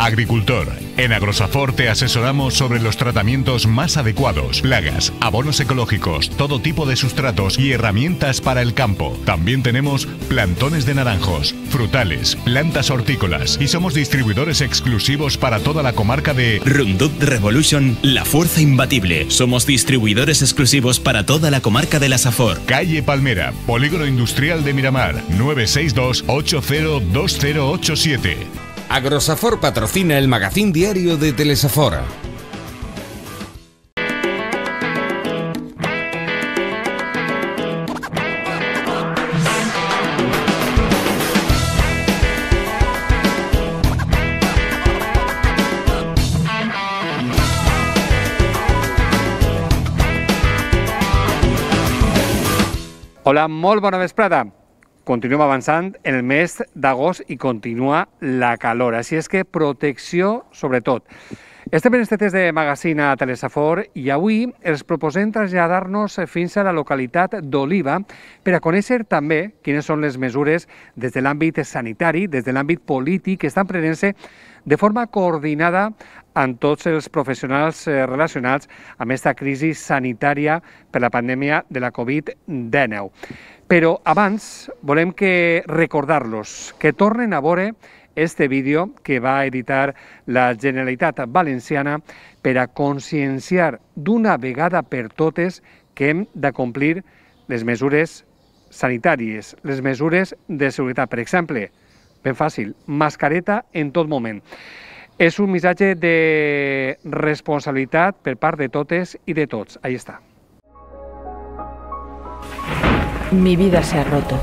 Agricultor. En Agrosafor te asesoramos sobre los tratamientos más adecuados, plagas, abonos ecológicos, todo tipo de sustratos y herramientas para el campo. También tenemos plantones de naranjos, frutales, plantas hortícolas y somos distribuidores exclusivos para toda la comarca de Roundup Revolution, la fuerza imbatible. Somos distribuidores exclusivos para toda la comarca de la Safor. Calle Palmera, Polígono Industrial de Miramar, 962 802087. Agrosafor patrocina el magazín diario de Telesafor. Hola, molt bona vesprada. Continuem avançant en el mes d'agost i continua la calor, així és que protecció sobretot. Estem en este test de magazín a Telesafor i avui els proposem traslladar-nos fins a la localitat d'Oliva per a conèixer també quines són les mesures des de l'àmbit sanitari, des de l'àmbit polític, que estan prenent-se de forma coordinada amb tots els professionals relacionats amb aquesta crisi sanitària per la pandèmia de la Covid-19. Però abans volem recordar-los que tornen a veure este vídeo que va editar la Generalitat Valenciana per a conscienciar d'una vegada per totes que hem de complir les mesures sanitàries, les mesures de seguretat. Per exemple, ben fàcil, mascareta en tot moment. És un missatge de responsabilitat per part de totes i de tots. Ahí está. Mi vida se ha roto,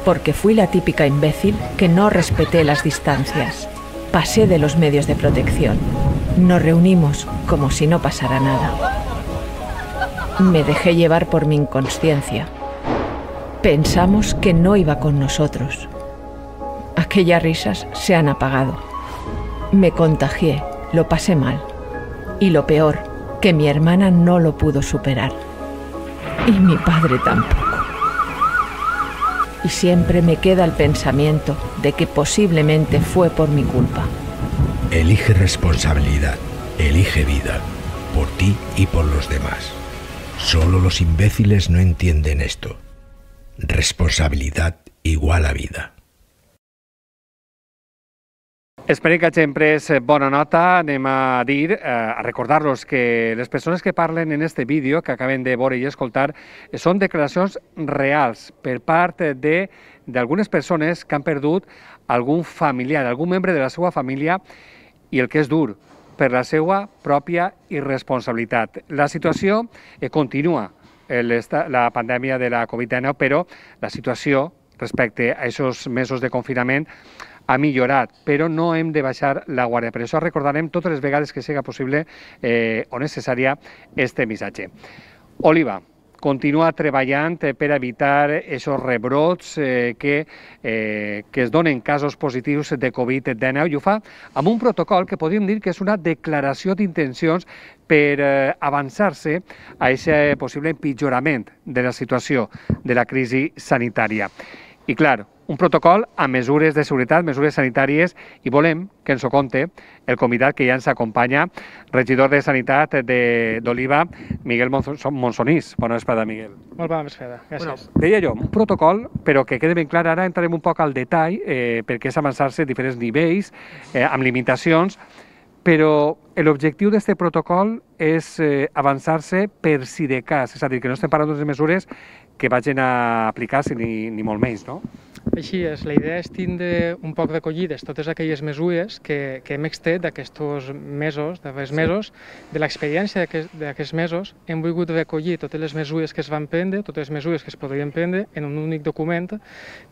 porque fui la típica imbécil que no respeté las distancias. Pasé de los medios de protección. Nos reunimos como si no pasara nada. Me dejé llevar por mi inconsciencia. Pensamos que no iba con nosotros. Aquellas risas se han apagado. Me contagié, lo pasé mal. Y lo peor, que mi hermana no lo pudo superar. Y mi padre tampoco. Y siempre me queda el pensamiento de que posiblemente fue por mi culpa. Elige responsabilidad, elige vida, por ti y por los demás. Solo los imbéciles no entienden esto. Responsabilidad igual a vida. Esperem que hagin pres bona nota. Anem a dir, a recordar-los que les persones que parlen en este vídeo que acabem de veure i escoltar són declaracions reals per part d'algunes persones que han perdut algun familiar, algun membre de la seva família, i el que és dur, per la seva pròpia irresponsabilitat. La situació continua, la pandèmia de la Covid-19, però la situació respecte a aquests mesos de confinament ha millorat, però no hem de baixar la guàrdia. Per això recordarem totes les vegades que sigui possible o necessària este missatge. Oliva continua treballant per evitar aquests rebrots que es donen casos positius de Covid-19 i ho fa amb un protocol que podríem dir que és una declaració d'intencions per avançar-se a aquest possible empitjorament de la situació de la crisi sanitària. I clar, un protocol amb mesures de seguretat, mesures sanitàries, i volem que ens ho conte el convidat que ja ens acompanya, regidor de Sanitat d'Oliva, Miguel Monsonís. Bona vesprada, Miguel. Molt bona vesprada, gràcies. Deia jo, un protocol, però que quede ben clar, ara entrarem un poc al detall, perquè és avançar-se a diferents nivells, amb limitacions, però l'objectiu d'aquest protocol és avançar-se per si de cas, és a dir, que no estem parlant de mesures que vagin a aplicar-se ni molt menys, no? Així és, la idea és tindre un poc recollides totes aquelles mesures que hem extret d'aquests mesos, de l'experiència d'aquests mesos, hem volgut recollir totes les mesures que es van prendre, totes les mesures que es podrien prendre en un únic document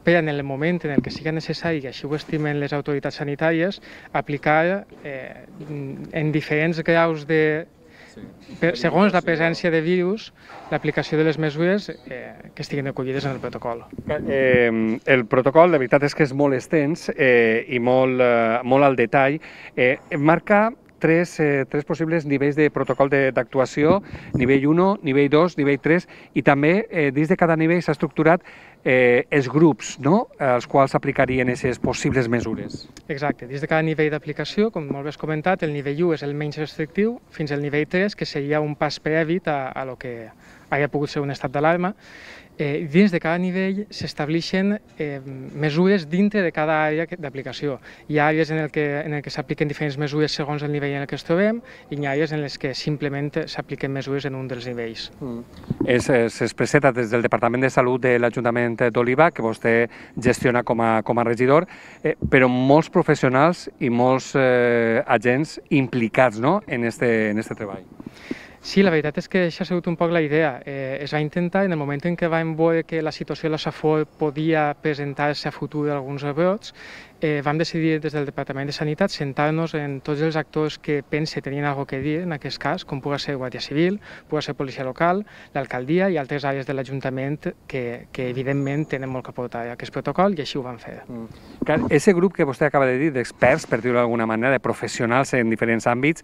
per en el moment en què sigui necessari, i així ho estimen les autoritats sanitàries, aplicar en diferents graus segons la presència de virus, l'aplicació de les mesures que estiguin recollides en el protocol. El protocol, la veritat és que és molt extens i molt al detall. Marca tres possibles nivells de protocol d'actuació, nivell 1, nivell 2, nivell 3, i també dins de cada nivell s'ha estructurat els grups, no?, als quals s'aplicarien aquestes possibles mesures. Exacte. Dins de cada nivell d'aplicació, com molt bé has comentat, el nivell 1 és el menys restrictiu, fins al nivell 3, que seria un pas previ a lo que hagi pogut ser un estat d'alarma. Dins de cada nivell s'estableixen mesures dintre de cada àrea d'aplicació. Hi ha àrees en què s'apliquen diferents mesures segons el nivell en què ens trobem i hi ha àrees en les que simplement s'apliquen mesures en un dels nivells. S'expressa des del Departament de Salut de l'Ajuntament d'Oliva, que vostè gestiona com a regidor, però molts professionals i molts agents implicats, no?, en este treball. Sí, la veritat és que això ha sigut un poc la idea. Es va intentar, en el moment en què vam veure que la situació de la Safor podia presentar-se a futur alguns rebrots, vam decidir des del Departament de Sanitat sentar-nos en tots els actors que pense tenien alguna cosa a dir en aquest cas, com pugui ser Guàrdia Civil, pugui ser Policia Local, l'Alcaldia i altres àrees de l'Ajuntament que evidentment tenen molt que aportar a aquest protocol i així ho van fer. Aquest grup que vostè acaba de dir, d'experts, per dir-ho d'alguna manera, de professionals en diferents àmbits,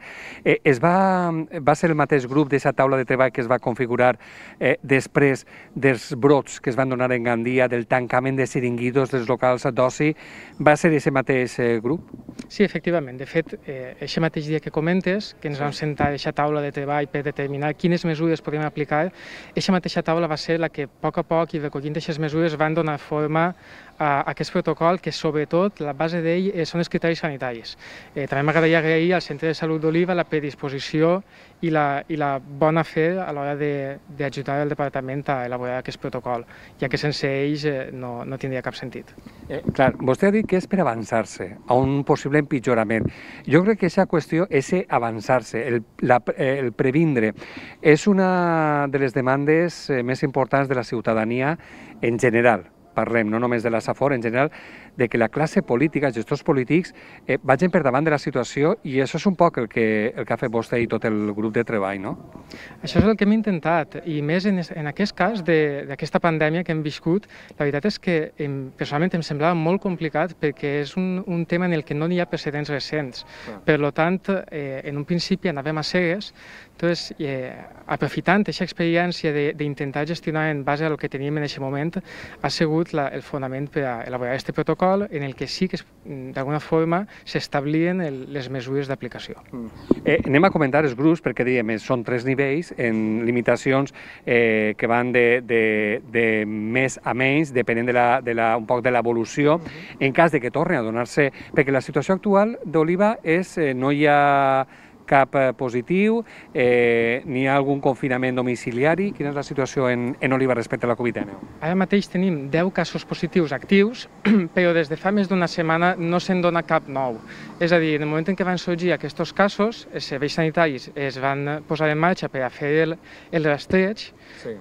va ser el mateix grup d'aquesta taula de treball que es va configurar després dels brots que es van donar en Gandia, del tancament de xiringuitos dels locals d'oci, va ser aquest mateix grup? Sí, efectivament. De fet, aquest mateix dia que comentes, que ens vam sentar a aquesta taula de treball per determinar quines mesures podíem aplicar, aquesta mateixa taula va ser la que a poc i recollint aquestes mesures van donar forma a aquest protocol, que sobretot la base d'ell són els criteris sanitaris. També m'agradaria agrair al Centre de Salut d'Oliva la predisposició i la bona fe a l'hora d'ajudar el departament a elaborar aquest protocol, ja que sense ells no tindria cap sentit. Clar, vostè ha dit que és per avançar-se a un possible empitjorament. Jo crec que aquesta qüestió, avançar-se, el previndre, és una de les demandes més importants de la ciutadania en general. Parlem no només de la Safor, en general, de que la classe política, els gestors polítics, vagin per davant de la situació i això és un poc el que ha fet vostè i tot el grup de treball, no? Això és el que hem intentat, i més en aquest cas d'aquesta pandèmia que hem viscut, la veritat és que personalment em semblava molt complicat perquè és un tema en el que no hi ha precedents recents. Per tant, en un principi anàvem a cegues, doncs, aprofitant aquesta experiència d'intentar gestionar en base al que teníem en aquest moment, ha sigut el fonament per a elaborar aquest protocol en el que sí que d'alguna forma s'establien les mesures d'aplicació. Anem a comentar els grups perquè diem, són 3 nivells en limitacions que van de més a menys, depenent un poc de l'evolució, en cas de que torni a donar-se, perquè la situació actual d'Oliva és no hi ha cap positiu, n'hi ha algun confinament domiciliari? Quina és la situació en Oliva respecte a la Covid-19? Ara mateix tenim 10 casos positius actius, però des de fa més d'una setmana no se'n dona cap nou. És a dir, en el moment en què van sorgir aquests casos, els serveis sanitaris es van posar en marxa per a fer el rastreig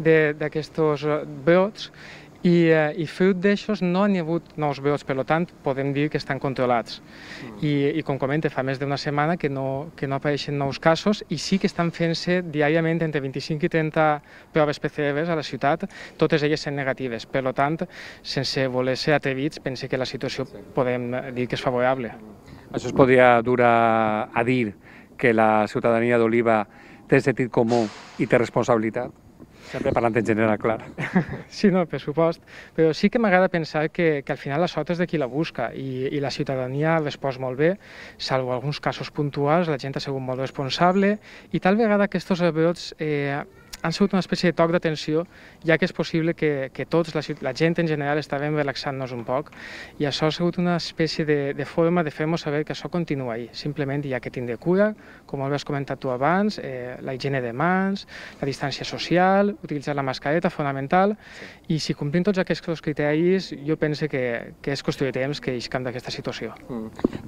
d'aquests brots, i fruit d'això no n'hi ha hagut nous brots, per tant podem dir que estan controlats. I com comenta, fa més d'una setmana que no apareixen nous casos i sí que estan fent-se diàriament entre 25 i 30 proves PCR a la ciutat, totes elles sent negatives. Per tant, sense voler ser atrevits, pense que la situació podem dir que és favorable. Això es podria dur a dir que la ciutadania d'Oliva té sentit comú i té responsabilitat? Sempre parlant en general, clar. Sí, no, per supost, però sí que m'agrada pensar que al final la sort és de qui la busca i la ciutadania ha respost molt bé, salvo alguns casos puntuals, la gent ha sigut molt responsable i tal vegada aquests rebrots han sigut una espècie de toc d'atenció, ja que és possible que tots, la gent en general, estàvem relaxant-nos un poc i això ha sigut una espècie de forma de fer-nos saber que això continua ahí. Simplement hi ha que tindre cura, com has comentat tu abans, la higiene de mans, la distància social, utilitzar la mascareta, fonamental, i si complim tots aquests criteris, jo penso que és qüestió de temps que iscam d'aquesta situació.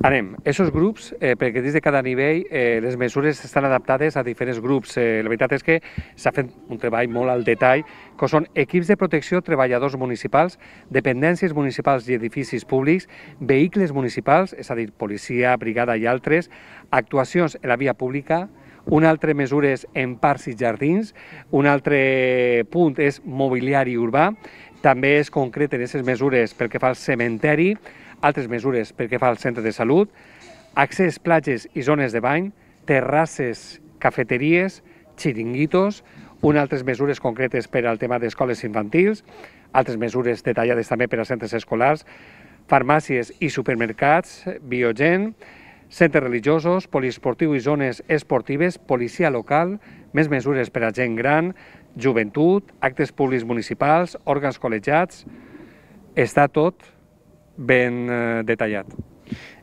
Anem, aquests grups, perquè dins de cada nivell les mesures estan adaptades a diferents grups. La veritat és que s'ha fet un treball molt al detall, que són equips de protecció, treballadors municipals, dependències municipals i edificis públics, vehicles municipals, és a dir, policia, brigada i altres, actuacions en la via pública, un altre mesures en parcs i jardins, un altre punt és mobiliari urbà, també es concreten aquestes mesures pel que fa al cementeri, altres mesures pel que fa al centre de salut, accés, platges i zones de bany, terrasses, cafeteries, xiringuitos, unes altres mesures concretes per al tema d'escoles infantils, altres mesures detallades també per a centres escolars, farmàcies i supermercats, Biogen, centres religiosos, poliesportiu i zones esportives, policia local, més mesures per a gent gran, joventut, actes públics municipals, òrgans col·legiats. Està tot ben detallat.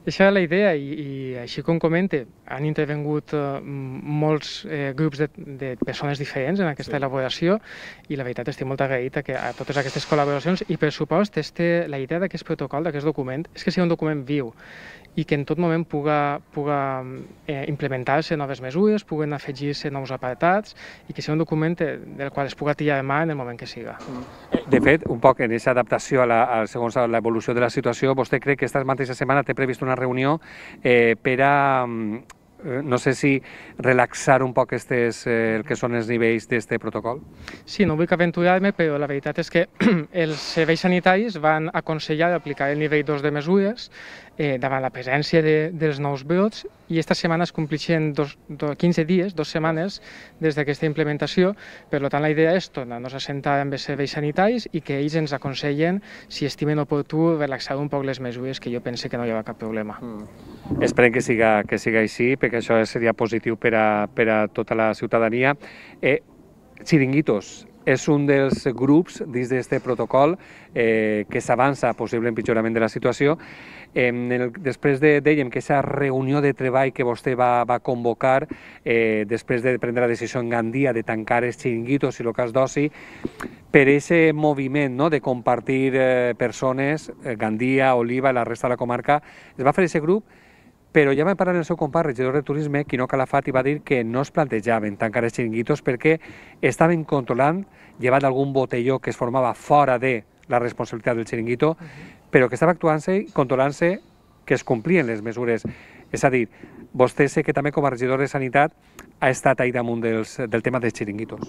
Això és la idea i així com comenta, han intervingut molts grups de persones diferents en aquesta elaboració i la veritat estic molt agraït a totes aquestes col·laboracions i per supost la idea d'aquest protocol, d'aquest document, és que sigui un document viu i que en tot moment puga implementar-se noves mesures, puguen afegir-se nous apartats i que sigui un document del qual es puga tirar de mà en el moment que siga. De fet, un poc en aquesta adaptació segons l'evolució de la situació, vostè crec que aquesta mateixa setmana té previst una reunió per a, no sé si relaxar un poc el que són els nivells d'aquest protocol? Sí, no vull aventurar-me, però la veritat és que els serveis sanitaris van aconsellar aplicar el nivell 2 de mesures davant la presència dels nous brots i aquesta setmana es complixen 15 dies, 2 setmanes des d'aquesta implementació. Per tant, la idea és tornar-nos a sentar amb els serveis sanitaris i que ells ens aconsellen, si estimen oportú, relaxar un poc les mesures, que jo pense que no hi haurà cap problema. Esperem que siga així, perquè això seria positiu per a tota la ciutadania. Xiringuitos és un dels grups dins d'aquest protocol que s'avança a possible empitjorament de la situació. Després dèiem que aquesta reunió de treball que vostè va convocar després de prendre la decisió en Gandia de tancar els xiringuitos i locals d'oci, per aquest moviment de compartir persones, Gandia, Oliva i la resta de la comarca, es va fer aquest grup, però ja vam parlar amb el seu company, regidor de Turisme, Quino Calafat, i va dir que no es plantejaven tancar els xiringuitos perquè estaven controlant, llevat algun botelló que es formava fora de la responsabilitat del xiringuito, però que estava actuant-se i controlant-se que es complien les mesures. És a dir, vostè sé que també com a regidor de Sanitat ha estat ahí damunt del tema dels xiringuitos.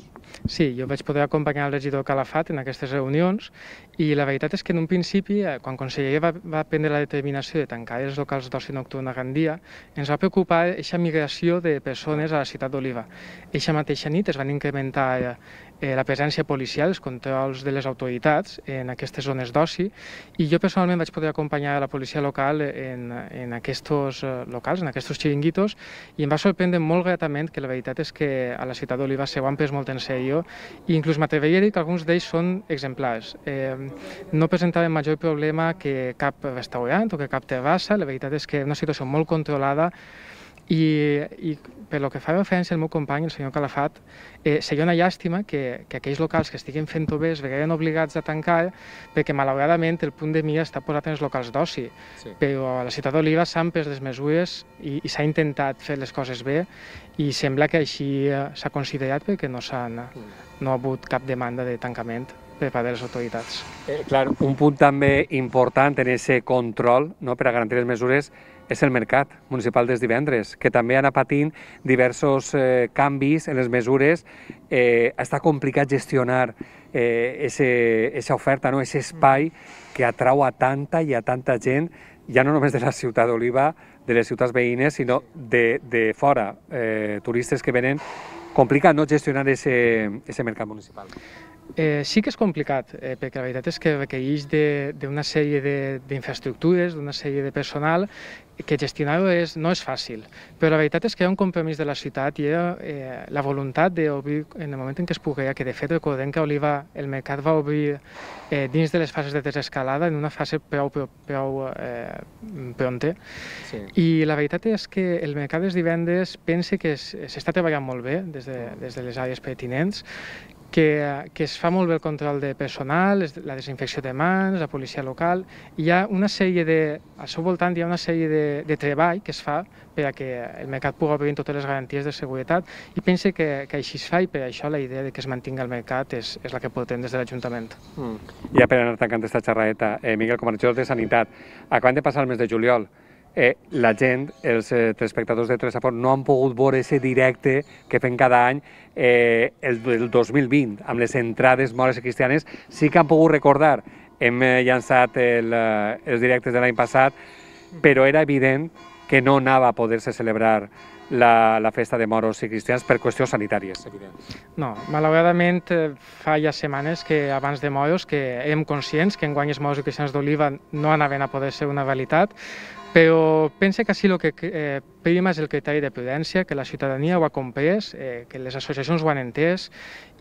Sí, jo vaig poder acompanyar el regidor Calafat en aquestes reunions i la veritat és que en un principi, quan Conselleria va prendre la determinació de tancar els locals d'oci nocturn a Gandia, ens va preocupar aquesta migració de persones a la ciutat d'Oliva. Eixa mateixa nit es van incrementar la presència policial, els controls de les autoritats en aquestes zones d'oci i jo personalment vaig poder acompanyar la policia local en aquests locals, en aquests xiringuitos i em va sorprendre molt gratament que la veritat és que a la ciutat d'Oliva s'ho han pres molt en sèrio i inclús m'atreviria a dir que alguns d'ells són exemplars. No presentaven major problema que cap restaurant o que cap terrassa, la veritat és que és una situació molt controlada i per lo que fa referència al meu company, el senyor Calafat, seria una llàstima que aquells locals que estiguin fent-ho bé es veguen obligats a tancar perquè malauradament el punt de mira està posat en els locals d'oci, però a la ciutat d'Oliva s'han pres les mesures i s'ha intentat fer les coses bé i sembla que així s'ha considerat perquè no ha hagut cap demanda de tancament per part de les autoritats. Clar, un punt també important en aquest control per a garantir les mesures és el mercat municipal dels divendres, que també ha anat patint diversos canvis en les mesures. Està complicat gestionar aquesta oferta, aquest espai que atrau a tanta i a tanta gent, ja no només de la ciutat d'Oliva, de les ciutats veïnes, sinó de fora, turistes que venen. Complicat no gestionar aquest mercat municipal. Sí que és complicat, perquè la veritat és que requereix d'una sèrie d'infraestructures, d'una sèrie de personal, que gestionar-ho no és fàcil. Però la veritat és que hi ha un compromís de la ciutat i hi ha la voluntat d'obrir en el moment en què es pogués, que de fet recordem que a Oliva el mercat va obrir dins de les fases de desescalada, en una fase prou pronta. I la veritat és que el mercat dels divendres pense que s'està treballant molt bé des de les àrees pertinents, que es fa molt bé el control de personal, la desinfecció de mans, la policia local. Hi ha una sèrie al seu voltant hi ha una sèrie de treball que es fa per a que el mercat pugui obrir totes les garanties de seguretat i pense que així es fa i per això la idea de que es mantingui el mercat és la que portem des de l'Ajuntament. Ja per anar tancant aquesta xerradeta, Miguel, com a regidor de Sanitat, acabem de passar el mes de juliol. La gent, els telespectadors de Telesafort, no han pogut veure aquest directe que fem cada any el 2020, amb les entrades mores i cristianes. Sí que han pogut recordar, hem llançat els directes de l'any passat, però era evident que no anava a poder-se celebrar la festa de moros i cristians per qüestions sanitàries, evident. No, malauradament fa ja setmanes que abans de moros que érem conscients que enguany els moros i cristians d'Oliva no anaven a poder ser una realitat, però pense que així el que prima és el criteri de prudència, que la ciutadania ho ha comprès, que les associacions ho han entès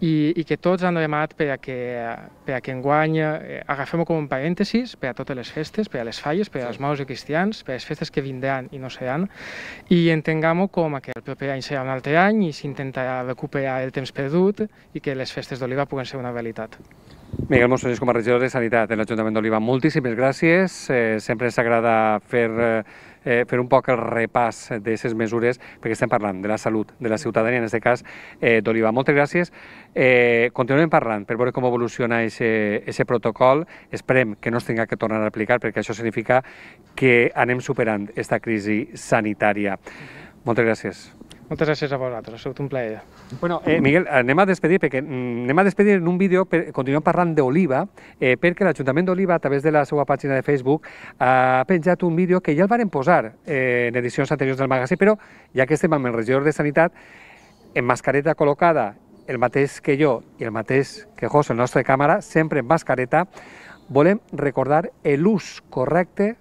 i que tots han remat per a que enguany agafem-ho com un parèntesis per a totes les festes, per a les falles, per als moros i cristians, per a les festes que vindran i no seran, i entenguem-ho com que el proper any serà un altre any i s'intentarà recuperar el temps perdut i que les festes d'Oliva puguen ser una realitat. Miguel Monsoñés, com a regidor de Sanitat de l'Ajuntament d'Oliva, moltíssimes gràcies. Sempre ens agrada fer un poc el repàs d'aquestes mesures, perquè estem parlant de la salut de la ciutadania, en aquest cas d'Oliva. Moltes gràcies. Continuem parlant per veure com evoluciona aquest protocol. Esperem que no es tinga que tornar a aplicar, perquè això significa que anem superant aquesta crisi sanitària. Moltes gràcies. Moltes gràcies a vosaltres, ha sigut un plaer. Bueno, Miguel, anem a despedir en un vídeo, continuem parlant d'Oliva, perquè l'Ajuntament d'Oliva, a través de la seva pàgina de Facebook, ha penjat un vídeo que ja el varen posar en edicions anteriors del magazín, però ja que estem amb el regidor de Sanitat, en mascareta col·locada, el mateix que jo i el mateix que José, el nostre càmera, sempre en mascareta, volem recordar l'ús correcte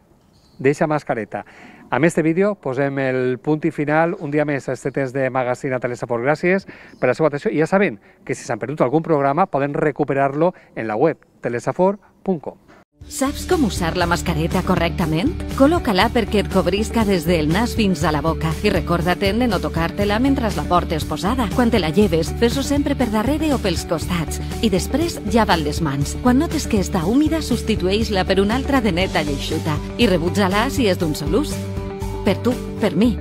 d'aquesta mascareta. Amb este vídeo posem el punt i final un dia més a este temps de magazín a Telesaport. Gràcies per la seva atenció i ja saben que si s'han perdut algun programa poden recuperar-lo en la web telesaport.com. Saps com usar la mascareta correctament? Col·loca-la perquè et cobrisca des del nas fins a la boca i recorda-te'n de no tocar-te-la mentre la portes posada. Quan te la lleves, fes-ho sempre per darrere o pels costats i després llava les mans. Quan notes que està húmida, substitueix-la per una altra de neta i eixuta i rebutja-la si és d'un sol ús. Per tu, per mi.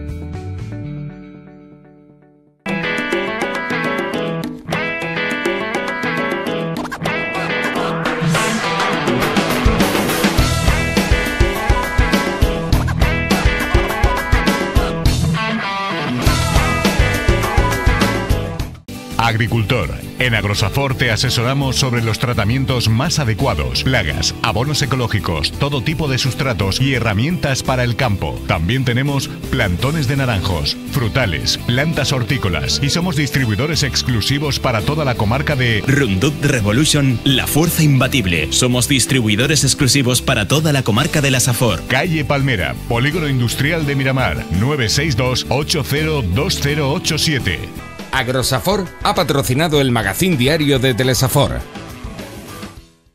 Agricultor. En Agrosafort te asesoramos sobre los tratamientos más adecuados, plagas, abonos ecológicos, todo tipo de sustratos y herramientas para el campo. También tenemos plantones de naranjos, frutales, plantas hortícolas y somos distribuidores exclusivos para toda la comarca de Roundup Revolution, la fuerza imbatible. Somos distribuidores exclusivos para toda la comarca de la Safor. Calle Palmera, Polígono Industrial de Miramar, 962 802087. Agrosafor ha patrocinado el magazín diario de Telesafor.